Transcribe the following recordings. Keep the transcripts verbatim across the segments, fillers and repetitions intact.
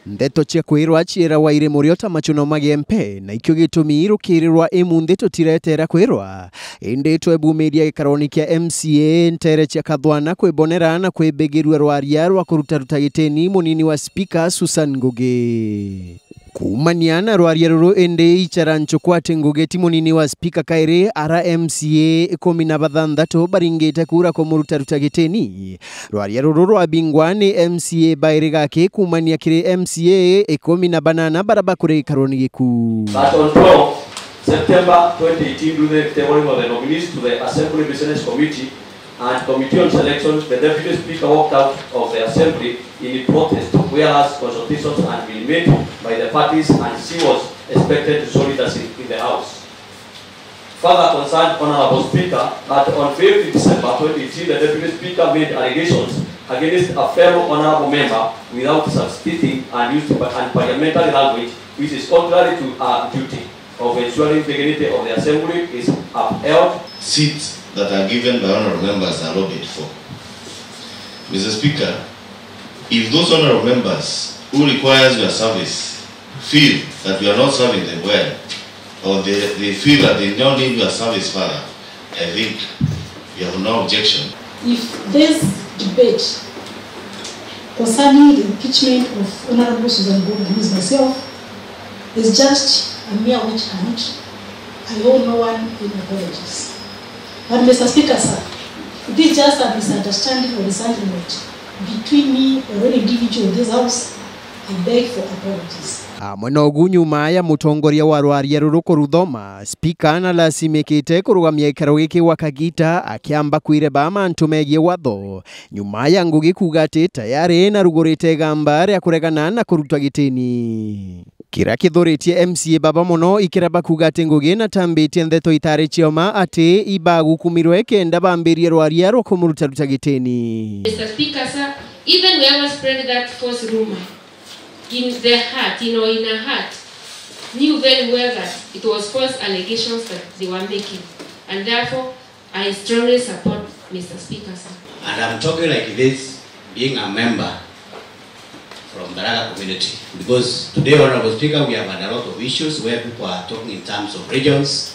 Ndeto cia kwirwa ciirawa iri murio ta machuno magempe, na ikio gitumi rukirirwa imunthi tutiretera kwirwa. Indi twebumiria gikaroni kia M C A ntere cia kathwana kwibonera na kwibigirua rwaria rwa kurutaruta gitini munini wa spika Susan Ngugi. Kuumania na rwaria ruru indi ichara nchuku ati Ngugi ti munini wa spika kairi, ara M C A ikumi na bathanthatu baringite kura kumurutaruta gitini. Rwaria ruru rwabingwa ni M C A bairi gaki kuumania kiri M C A ikumi na banana bara bakuri gikaroni giku. That on twelve September twenty eighteen, during the tabling of the nominees to the Assembly Business Committee and Committee on Selections, the Deputy Speaker walked out of the Assembly in protest, whereas consultations had been made by the parties and she was expected to show leadership in the House. Further concerned, Honourable Speaker, that on fifth December twenty eighteen, the Deputy Speaker made allegations against a fellow honourable member without substituting and used pa-, unparliamentary language, which is contrary to her duty of ensuring dignity of the Assembly is upheld. Seats that are given by honourable members are lobbied for. Mister Speaker, if those honourable members who requires your service feel that you are not serving them well, or they, they feel that they don't need your service further, I think we have no objection. If this debate concerning the impeachment of Honourable Susan Ngugi against myself is just a mere witch hunt, I owe no one any apologies. But Mister Speaker, sir, it is just a misunderstanding or resentment between me or any individual in this House. I beg for apologies. Amwe na ugu, nyuma ya mutongoria wa rwaria ruru kuruthoma, spika na lasimikite kurugamia gikaro giki gwa kagita akiamba kwireba mantu megie watho, nyuma ya Ngugi kuuga ati tayari narugurite igamba ria kuregana na kurutwa gitini. Kiria kithuritie M C A baba mono ikireba kuuga ati Ngugi natambitie ndeto itari cioma ati ibagukumirwe kenda bambirie rwaria rwa kumurutaruta gitini. Mister Speaker, sir, even whoever spread that false rumor in their heart, in or in her heart, knew very well that it was false allegations that they were making, and therefore I strongly support Mister Speaker, sir. And I'm talking like this, being a member from Tharaka community, because today, Honourable Speaker, we have had a lot of issues where people are talking in terms of regions.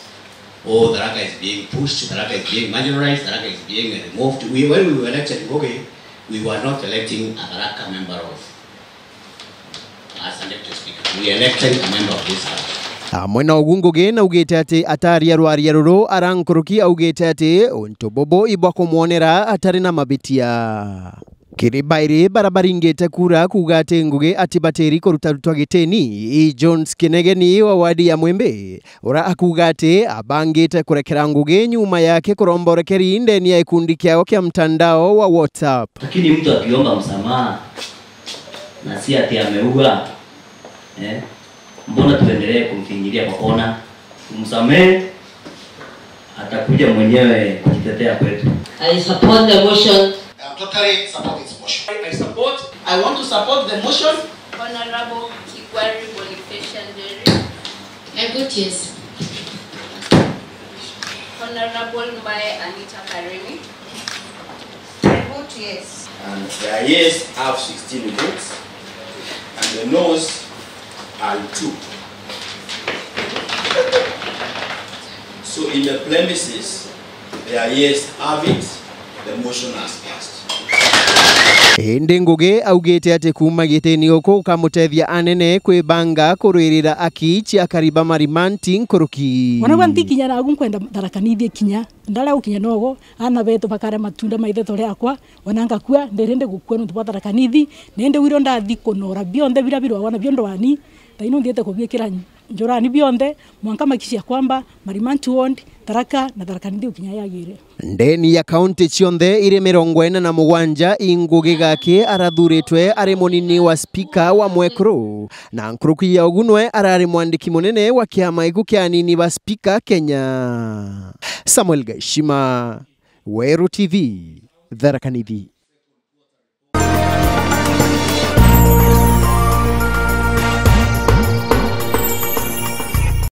Oh, Tharaka is being pushed, Tharaka is being marginalized, Tharaka is being removed. We, when we were elected Ngugi, we were not electing a Tharaka member of, as elected speaker. We elected a member of this House. Amwe na ugu, Ngugi naugite ati ataria rwaria ruru ara nkuruki augite ati untu bubu ibwa kumwonera atari na mabitia. Kiri bairi bara baringite kura kuuga ati Ngugi atibatiri kurutarutwa gitini, i Jones Kinegeni wa wadi ya Mwimbi, ura akuuga ati abangite kurekera Ngugi nyuma yake kuromborekeri ndeni ya gikundi kiao kia mtandao wa WhatsApp. Lakini mtu akiomba msamaha na si ati ameua, eh, mbona tuendelee kumfinyilia kwa kona? Tumsamehe, atakuja mwenyewe kujitetea kwetu. I support the motion. I am totally support this motion. I support. I want to support the motion. Honorable Kigwari Bonifacia Njeri. I vote yes. Honorable Mbae Anita Karemi. I vote yes. And the yes have sixteen votes, and the noes are two. So in the premises, the yes have it, the motion has passed. Indi Ngugi augite ati kuuma gitini guku gukamutethia anene kwibanga kurwirira aki cia akari ba Marimanti nkuruki. Wanagwa ntikinya nagu nkwenda Tharaka Nithi kinya. Ndara gukinya nogo, aana betu bakare matunda ma itheto riakwa, ona ngakua, ndiri ndi gukua nontu bwa Tharaka Nithi, na indi wiro ndathi kunora bionthe bira birwagwa nabio ndwani, thaino nthiite kubiikira njurani bionthe, mwanka makicia kwamba Marimanti Ward, Tharaka na Tharaka Nithi gukinya yagire. Ndeni ya kaunti cionthe iri mirongo ina na mugwanja, i Ngugi Gaki arathuritwe ari munini wa spika wa mwekuru, na nkuruki ya ugu nwe arari mwandiki munene wa kiama giku kia anini ba spika Kenya. Samuel Gaishima, Weru T V, Tharaka Nithi.